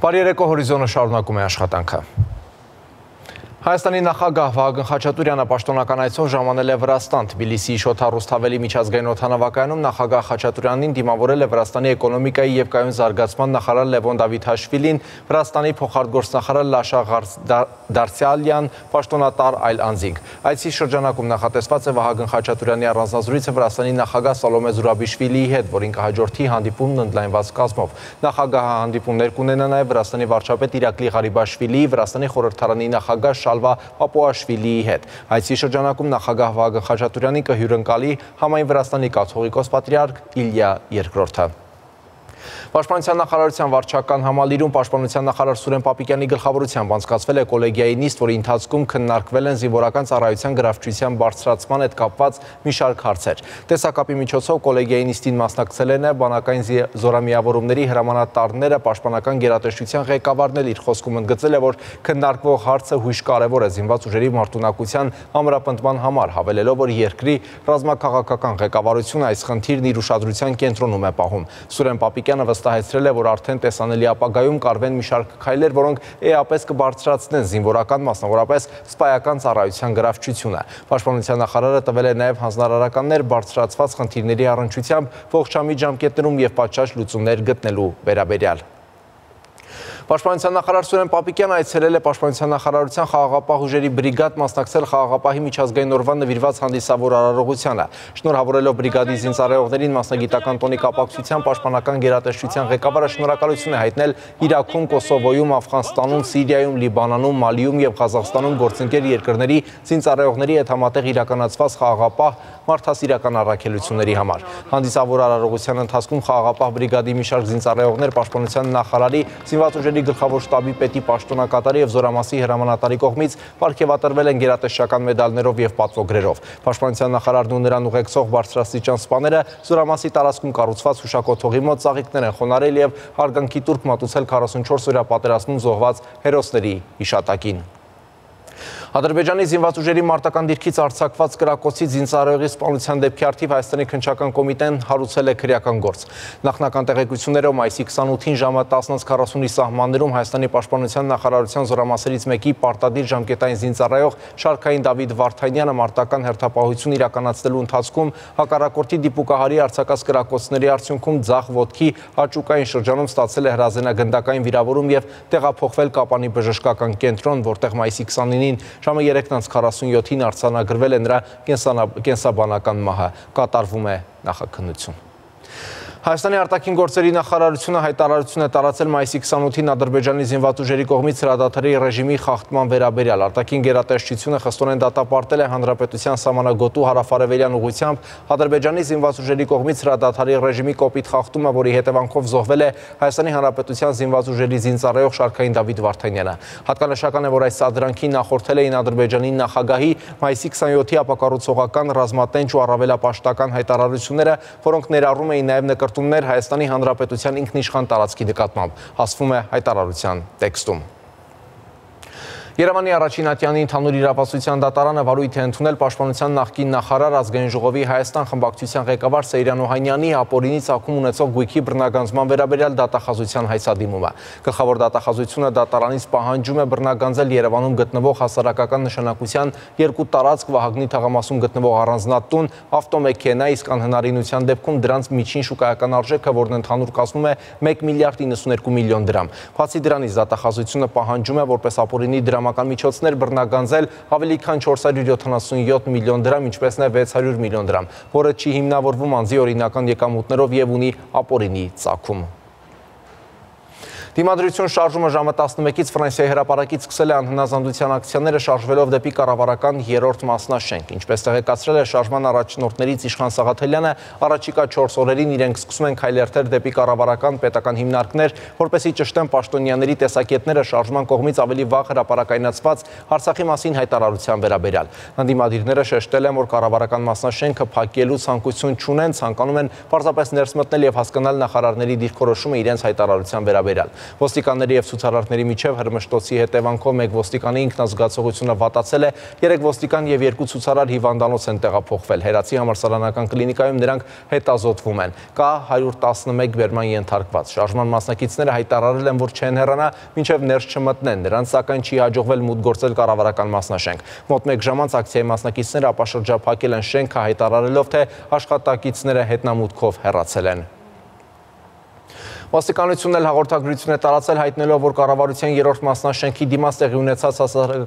Բարի երեկո, Հորիզոնը շարունակում է աշխատանքը։ Հայաստանի նախագահ Վահագն Խաչատուրյանը պաշտոնական այցով ժամանել է Վրաստան։ Թբիլիսիի Շոթ Ռուսթավելի միջազգային օդանավակայանում նախագահ Խաչատուրյանին դիմավորել է Վրաստանի էկոնոմիկայի և կայուն զարգացման նախարար Լևոն Դավիթաշվիլին, Վրաստանի փոխարտգործնախարար Լաշա Դարսյալյան, պաշտոնատար այլ անձինք։ Այցի շրջանակում նախատեսված է Վահագն Խաչատուրյանի առանձնազրույցը Վրաստանի նախագահ Սալոմե Զուրաբիշվիլիի հետ, որին կհաջորդի հանդիպումն ընդլայնված կազմով։ Նախագահը հանդիպումներ կունենա նաև Վրաստանի վարչապետ Իրակլի Ղարիբաշվիլիի, Վրաստանի խորհրդարանի նախագահ Շալվա Պապուաշվիլիի հետ։ Այցի շրջանակում նախագահ Վահագն Խաչատուրյանի կհյուրընկալի համայն Վրաստանի կաթողիկոս պատրիարք Իլյա II-ը։ Պաշտպանության նախարարության վարչական համալիրում պաշտպանության նախարար Սուրեն Պապիկյանի գլխավորությամբ անցկացվել է կոլեգիայի նիստ, որի ընթացքում քննարկվել են զինվորական ծառայության գրավչության բարձրացման հետ կապված մի շարք հարցեր։ Տեսակապի միջոցով կոլեգիայի նիստին մասնակցել են բանակային զորամիավորումների հրամանատարները, պաշտպանական գերատեսչության ղեկավարն էլ իր խոսքում ընդգծել է, որ քննարկվող հարցը հույժ կարևոր է զինված ուժերի մարտունակության ամրապնդման համար, հավելելով, որ երկրի ռազմաքաղաքական ղեկավարությունը այս խնդիրն իր ուշադրության կենտրոնում է պահում։ Սուրեն Պապիկյանը վստահեցրել է, որ արդեն տեսանելի ապագայում կարվեն մի շարք քայլեր, որոնք էապես կբարձրացնեն զինվորական, մասնավորապես սպայական ծառայության գրավչությունը։ Պաշտպանության նախարարը տվել է նաև հանձնարարականներ բարձրացված խնդիրների առնչությամբ ողջամիտ ժամկետներում և պատշաճ լուծումներ գտնելու վերաբերյալ։ Պաշտպանության նախարար Սուրեն Պապիկյանը այցելել է Պաշտպանության նախարարության խաղաղապահ ուժերի բրիգադ մասնակցել խաղաղապահի միջազգային օրվան նվիրված հանդիսավոր արարողությանը։ Շնորհավորելով բրիգադի զինծառայողներին մասնագիտական տոնի կապակցությամբ պաշտպանական գերատեսչության ղեկավարը շնորհակալություն է հայտնել Իրաքում, Կոսովոյում, Աֆղանստանում, Սիրիայում, Լիբանանում, Մալիում և Ղազախստանում գործընկեր երկրների զինծառայողների հետ համատեղ իրականացված խաղաղապահ մարդասիրական առաքելությունների համար։ Հանդիսավոր արարողության ընթացքում խաղաղապահ բրիգադի մի շարք զինծառայողներ պաշտպանության նախարարի, զինված ուժերի գլխավոր շտաբի պետի պաշտոնակատարի և զորամասի հրամանատարի կողմից պարգևատրվել են գերատեսչական մեդալներով և պատվոգրերով։ Պաշտպանության նախարարն ու նրան ուղեկցող բարձրաստիճան սպաները զորամասի տարածքում կառուցված հուշակոթողի մոտ ծաղիկներ են խոնարհել և հարգանքի տուրք մատուցել 44-օրյա պատերազմում զոհված հերոսների հիշատակին։ Ադրբեջանի զինված ուժերի մարտական դիրքից արձակված կրակոցի զինծառայողի սպանության դեպքի առթիվ Հայաստանի քննչական կոմիտեն հարուցել է քրեական գործ։ Նախնական տեղեկություններով մայիսի 28-ին ժամը 10:40-ի սահմաններում Հայաստանի պաշտպանության նախարարության զորամասերից մեկի պարտադիր ժամկետային զինծառայող Շարքային Դավիթ Վարդանյանը մարտական հերթապահություն իրականացնելու ընթացքում հակառակորդի դիպուկահարի արձակած կրակոցների արդյունքում ձախ ոտքի աճուկային շրջանում ստացել է հրազենագնդակային վիրավորում և տեղափոխվել Կապանի բժշկական կենտրոն, որտեղ մայիսի 29-ին ժամը 3:47-ին արձանագրվել է նրա կենսաբանական մահը, կատարվում է նախաքննություն։ Հայաստանի արտաքին գործերի նախարարությունը հայտարարություն է տարածել մայիսի 28-ին Ադրբեջանի զինված ուժերի կողմից հրադադարի ռեժիմի խախտման վերաբերյալ։ Արտաքին գերատեսչությունը խստորեն դատապարտել է հանրապետության սահմանագոտու հարավարևելյան ուղղությամբ Ադրբեջանի զինված ուժերի կողմից հրադադարի ռեժիմի կոպիտ խախտումը, որի հետևանքով զոհվել է Հայաստանի Հանրապետության զինված ուժերի զինծառայող Շարքային Դավիթ Վարդանյանը։ Հատկանշական է, որ այս սադրանքին նախորդել էին Ադրբեջանի նախագահի մայիսի 27-ի ապակառուցողական, ռազմատենչ ու առավելապաշտական հայտարարությունները, որոնք ներառում էին նաև նկրտումներ Հայաստանի Հանրապետության ինքնիշխան տարածքի նկատմամբ, ասվում է հայտարարության տեքստում։ Երևանի առաջին ատյանի ընդհանուր իրավասության դատարանը վարույթ է ընդունել պաշտպանության նախկին նախարար Ազգային ժողովի Հայաստան խմբակցության ղեկավար Սեյրան Օհանյանի ապօրինի ծագում ունեցող գույքի բռնագանձման վերաբերյալ դատախազության հայցադիմումը։ Գլխավոր դատախազությունը դատարանից պահանջում է բռնագանձել Երևանում գտնվող հասարակական նշանակության երկու տարածք Վահագնի թաղամասում գտնվող առանձնատուն, ավտոմեքենա, իսկ անհնարինության դեպքում դրանց միջին շուկայական արժեքը, որն ընդհանուր կազմում է 1 միլիարդ 92 միլիոն դրամ։ Բացի դրանից դատախազությունը պահանջում է որպես ապօրինի դրամական միջոցներ բռնագանձել ավելի քան 477 միլիոն դրամ, ինչպես նաև 600 միլիոն դրամ, որը չի հիմնավորվում անձի օրինական եկամուտներով և ունի ապօրինի ծագում։ Դիմադրություն շարժումը ժամը 11-ից Ֆրանսիայի հրապարակից սկսել է անհնազանդության ակցիաները շարժվելով դեպի կառավարական 3-րդ մասնաշենք։ Ինչպես տեղեկացրել է շարժման առաջնորդներից Իշխան Սաղաթելյանը, առաջիկա 4 օրերին իրենք սկսում են քայլերթել դեպի կառավարական պետական հիմնարկներ, որպեսզի ճշտեն պաշտոնյաների տեսակետները շարժման կողմից ավելի վաղ հրապարակայնացված Արցախի մասին հայտարարության վերաբերյալ։ Ընդդիմադիրները շեշտել են, որ կառավարական մասնաշենքը փակելու ցանկություն չունեն, ցանկանում են պարզապես ներս մտնել և հասկանալ նախարարների դիրքորոշումը իրենց հայտարարության վերաբերյալ։ Ոստիկանների եւ ցուցարարների միջև հրմշտոցի հետևանքով մեկ ոստիկանի ինքնազգացողությունը վատացել է, 3 ոստիկան եւ 2 ցուցարար հիվանդանոց են տեղափոխվել։ Հերացի համալսարանական կլինիկայում նրանք հետազոտվում են։ Կա 111 բերման ենթարկված։ Շարժման մասնակիցները հայտարարել են, որ չեն հեռանա, մինչև ներս չմտնեն։ Նրանց սակայն չի հաջողվել մուտք գործել կառավարական մասնաշենք։ Մոտ 1 ժամանց ակցիայի մասնակիցները ապաշրջափակել են շենքը, հայտարարելով, թե աշխատակիցները հետնամուտքով հեռացել են։ Ոստիկանությունն էլ հաղորդագրություն է տարածել, հայտնելով, որ կառավարության 3-րդ մասնաշենքի դիմաց տեղի ունեցած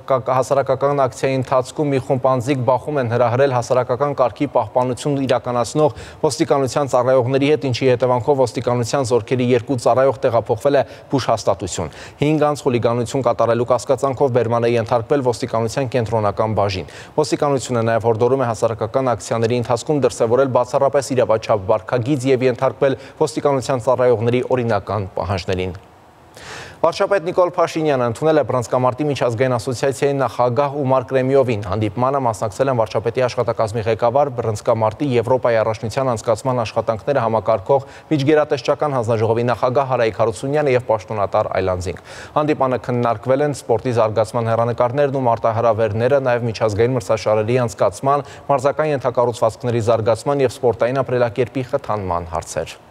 հասարակական ակցիայի ընթացքում մի խումբ անձիկ բախում են հրահրել հասարակական կարգի պահպանություն իրականացնող ոստիկանության ծառայողների հետ, ինչի հետևանքով ոստիկանության զորքերի 2 ծառայող տեղափոխվել է բուժհաստատություն։ 5 անձ խուլիգանություն կատարելու կասկածանքով բերման է ենթարկվել ոստիկանության կենտրոնական բաժին։ Ոստիկանությունը նաև հորդորում է հասարակական ակցիաների ընթացքում դրսևորել բացառապես իրավաչափ վարքագիծ եւ ենթարկվել ոստիկանության ծառայողների օրինական պահանջներին։ Վարչապետ Նիկոլ Փաշինյանը ընդունել է Բռնցքամարտի միջազգային ասոցիացիայի նախագահ Ումար Կրեմիովին։ Հանդիպմանը մասնակցել են վարչապետի աշխատակազմի ղեկավար, Բռնցքամարտի Եվրոպայի առաջնության անցկացման աշխատանքները համակարգող միջգերատեսչական հանձնաժողովի նախագահ Հարայիկ Հարությունյանը եւ պաշտոնատար այլ անձինք։ Հանդիպանը քննարկվել են սպորտի զարգացման հեռանկարներն ու մարտահրավերները, նաեւ միջազգային մրցաշարերի անցկացման, մարզական ենթակառուցվածքների զարգացման եւ սպորտային ապրելակերպի խթանման հարցեր։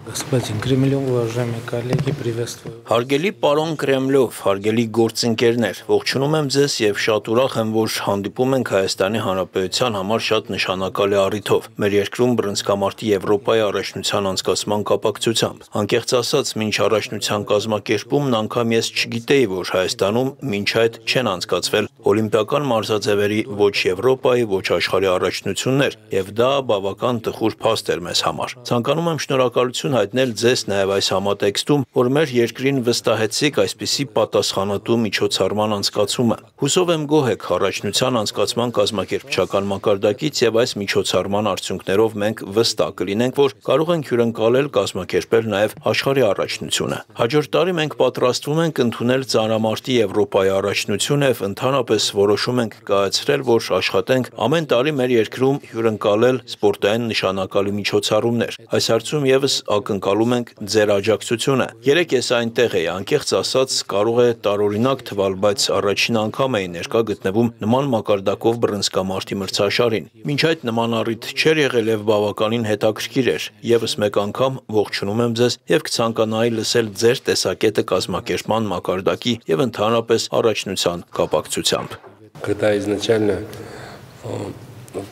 Господин Кремлев, уважаемые коллеги, приветствую. Հարգելի պարոն Կրեմլով, հարգելի գործընկերներ, ողջունում եմ ձեզ եւ շատ ուրախ եմ, որ հանդիպում ենք Հայաստանի Հանրապետության համար շատ նշանակալի առիթով։ Մեր երկրում բռնցքամարտի Եվրոպայի առաջնության անցկացման կապակցությամբ։ Անկեղծ ասած, մինչ առաջնության կազմակերպումն անգամ ես չգիտեի, որ Հայաստանում մինչ այդ չեն անցկացվել օլիմպիական մարզաձևերի ոչ Եվրոպայի, ոչ աշխարհի առաջնություններ, եւ դա բավական տխուր փաստ էր մեզ համար։ Ցանկանում եմ շնորհակալություն հայտնել ձեզ նաև այս համատեքստում, որ մեր երկրին վստահեցիք այսպիսի պատասխանատու միջոցառման անցկացումը։ Հուսով եմ գոհ եք առաջնության անցկացման կազմակերպչական մակարդակից եւ այս միջոցառման արդյունքներով մենք վստահ կլինենք, որ կարող ենք հյուրընկալել կազմակերպել նաև աշխարհի առաջնությունը։ Հաջորդ տարի մենք պատրաստվում ենք ընդունել ծանրամարտի Եվրոպայի առաջնությունը եւ ընդհանրապես որոշում ենք կայացրել, որ աշխատենք ամեն տարի մեր երկրում հյուրընկալել սպորտային նշանակալի միջոցառումներ։ Այս հարցում եւս ակնկալում ենք ձեր աջակցությունը։ Երեք ես այնտեղ էի, անկեղծ ասած, կարող է տարօրինակ թվալ, բայց առաջին անգամ էի ներկա գտնվում նման մակարդակով բռնցքամարտի մրցաշարին։ Մինչ այդ նման առիթ չէր եղել եւ բավականին հետաքրքիր էր։ Եվս մեկ անգամ ողջունում եմ ձեզ եւ կցանկանայի լսել ձեր տեսակետը կազմակերպման մակարդակի եւ ընդհանրապես առաջնության կապակցությամբ։ Когда изначально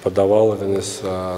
подавал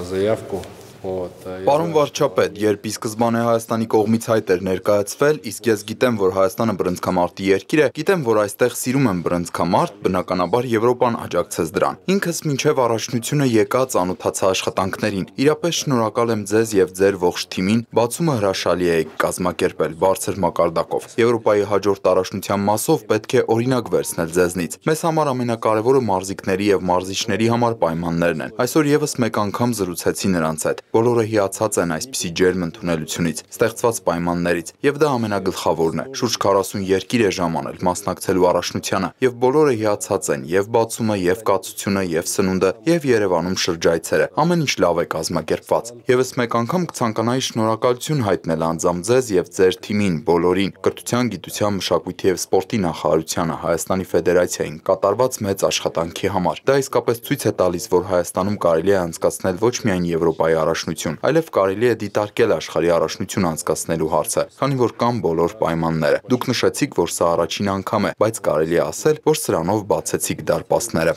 заявку, Պարոն վարչապետ, երբ ի սկզբանե Հայաստանի կողմից հայտ էր ներկայացվել, իսկ ես գիտեմ, որ Հայաստանը բռնցքամարտի երկիր է, գիտեմ, որ այստեղ սիրում են բռնցքամարտ, բնականաբար Եվրոպան աջակցեց դրան։ Ինքս մինչև առաջնությունը եկա ծանոթացա աշխատանքներին։ Իրապես շնորհակալ եմ ձեզ եւ ձեր ողջ թիմին, բացումը հրաշալի է կազմակերպել բարձր մակարդակով։ Եվրոպայի հաջորդ առաջնության մասով պետք է օրինակ վերցնել ձեզնից։ Մեզ համար ամենակարևորը մարզիկների եւ մարզիչների համար պայմաններն են։ Այսօր եւս մեկ անգամ զրուցեցի նրանց հետ։ Բոլորը հիացած են այսպիսի ջերմ ընդունելությունից, ստեղծված պայմաններից, եւ դա ամենագլխավորն է։ Շուրջ 40 երկիր է ժամանել մասնակցելու առաջնությանը, եւ բոլորը հիացած են, եւ բացումը, եւ կացությունը, եւ սնունդը, եւ Երևանում շրջայցերը։ Ամեն ինչ լավ է կազմակերպված։ Եվս մեկ անգամ կցանկանայի շնորհակալություն հայտնել անձամբ ձեզ եւ ձեր թիմին, բոլորին, կրթության, գիտության, մշակույթի եւ սպորտի նախարարությանը, Հայաստանի Ֆեդերացիային կատարված մեծ աշխատանքի համար։ Դա իսկապես ցույց է տալիս, որ Հայաստանում կարելի է անցկացնել ոչ միայն Եվրոպայի առաջնություն, այլև կարելի է դիտարկել աշխարհի առաջնություն անցկացնելու հարցը, քանի որ կան բոլոր պայմանները։ Դուք նշեցիք, որ սա առաջին անգամ է, բայց կարելի է ասել, որ սրանով բացեցիք դարպասները։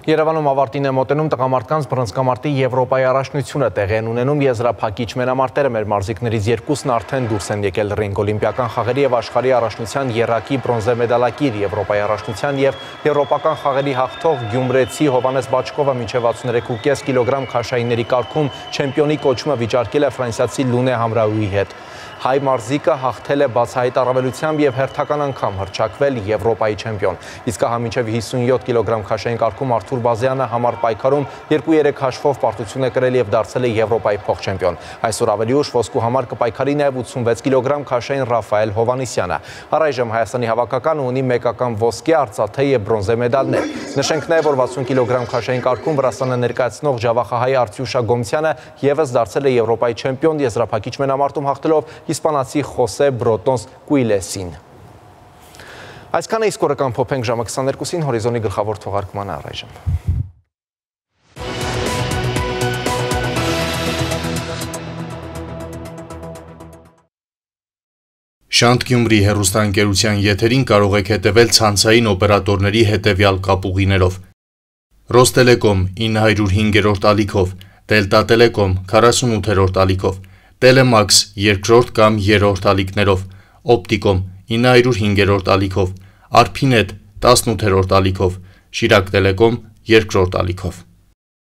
Երևանում ավարտին է մոտենում տղամարդկանց բռնցքամարտի Եվրոպայի առաջնությունը տեղի են ունենում եզրափակիչ մենամարտերը մեր մարզիկներից երկուսն արդեն դուրս են եկել ռինգ օլիմպիական խաղերի եւ աշխարհի առաջնության եռակի բրոնզե մեդալակիր Եվրոպայի առաջնության եւ եվրոպական խաղերի հաղթող գյումրեցի Հովանես Բաչկովը մինչեւ 63.5 կիլոգրամ քաշայինների կարգում չեմպիոնի կոչումը վիճարկել է ֆրանսիացի Լունե Համրաուի հետ։ Հայ մարզիկը հաղթել է բացահայտ առավելությամբ եւ հերթական անգամ հռչակվել Եվրոպայի չեմպիոն։ Իսկ հա մինչեւ 57 կիլոգրամ քաշային կարգում Արթուր Բազյանը համար պայքարում 2-3 հաշվով պարտություն է կրել եւ դարձել է Եվրոպայի փոխչեմպիոն։ Այսօր ավելի ուշ ոսկու համար կպայքարի նաեւ 86 կիլոգրամ քաշային Ռաֆայել Հովանիսյանը։ Առայժմ Հայաստանի հավաքականը ունի մեկական ոսկե, արծաթե եւ բրոնզե մեդալներ։ Նշենք նաեւ, որ 60 կիլոգրամ քաշային կարգում Վրաստանը ներկայացնող ջավախահայ Արտյուշ Ագոմցյանը եւս դարձել է Եվրոպայի չեմպիոն եզրափակիչ մենամարտում հաղթելով իսպանացի Խոսե Բրոտոնս Կուիլեսին։ Այսքանը իսկ օրը կամփոփենք ժամը 22-ին հորիզոնի գլխավոր թողարկմանը առայժմ։ Շանթ Գյումրի հեռուստաընկերության եթերին կարող եք հետևել ցանցային օպերատորների հետևյալ կապուղիներով. Ռոստելեկոմ 905-րդ ալիքով, Դելտա Տելեկոմ 48-րդ ալիքով, Տելեմաքս 2-րդ կամ 3-րդ ալիքներով, Օպտիկոմ 905-րդ ալիքով, Արփինետ 18-րդ ալիքով, Շիրակ Տելեկոմ 2-րդ ալիքով։